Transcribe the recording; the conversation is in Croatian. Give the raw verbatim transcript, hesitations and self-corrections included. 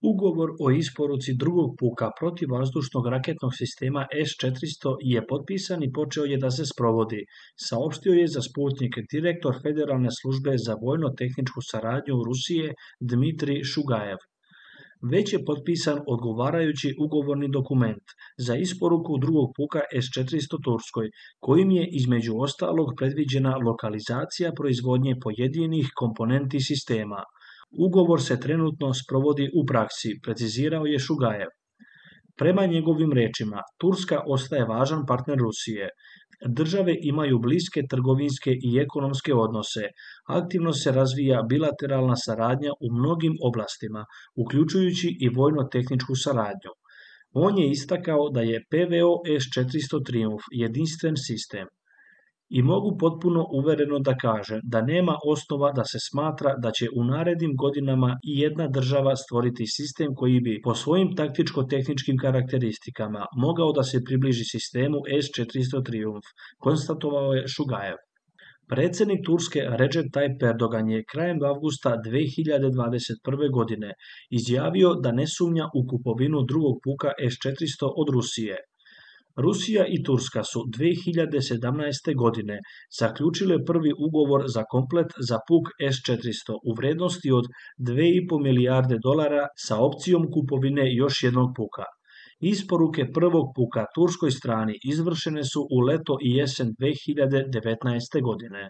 Ugovor o isporuci drugog puka protivvazdušnog raketnog sistema S četiristo je potpisan i počeo je da se sprovodi, saopštio je za Sputnik direktor Federalne službe za vojno-tehničku saradnju Rusije Dmitrij Šugajev. Već je potpisan odgovarajući ugovorni dokument za isporuku drugog puka S četiristo Turskoj, kojim je između ostalog predviđena lokalizacija proizvodnje pojedinih komponenti sistema. Ugovor se trenutno sprovodi u praksi, precizirao je Šugajev. Prema njegovim rečima, Turska ostaje važan partner Rusije. Države imaju bliske trgovinske i ekonomske odnose. Aktivno se razvija bilateralna saradnja u mnogim oblastima, uključujući i vojno-tehničku saradnju. On je istakao da je P V O S četiristo Triumf jedinstven sistem. I mogu potpuno uvereno da kažem da nema osnova da se smatra da će u narednim godinama i jedna država stvoriti sistem koji bi po svojim taktičko-tehničkim karakteristikama mogao da se približi sistemu S četiristo Triumf, konstatovao je Šugajev. Predsednik Turske Recep Tayyip Erdogan je krajem avgusta dve hiljade dvadeset prve. godine izjavio da ne sumnja u kupovinu drugog puka S četiristo od Rusije. Rusija i Turska su dve hiljade sedamnaeste. godine zaključile prvi ugovor za komplet za puk S četiristo u vrednosti od dve i po milijarde dolara sa opcijom kupovine još jednog puka. Isporuke prvog puka turskoj strani izvršene su u leto i jesen dve hiljade devetnaeste. godine.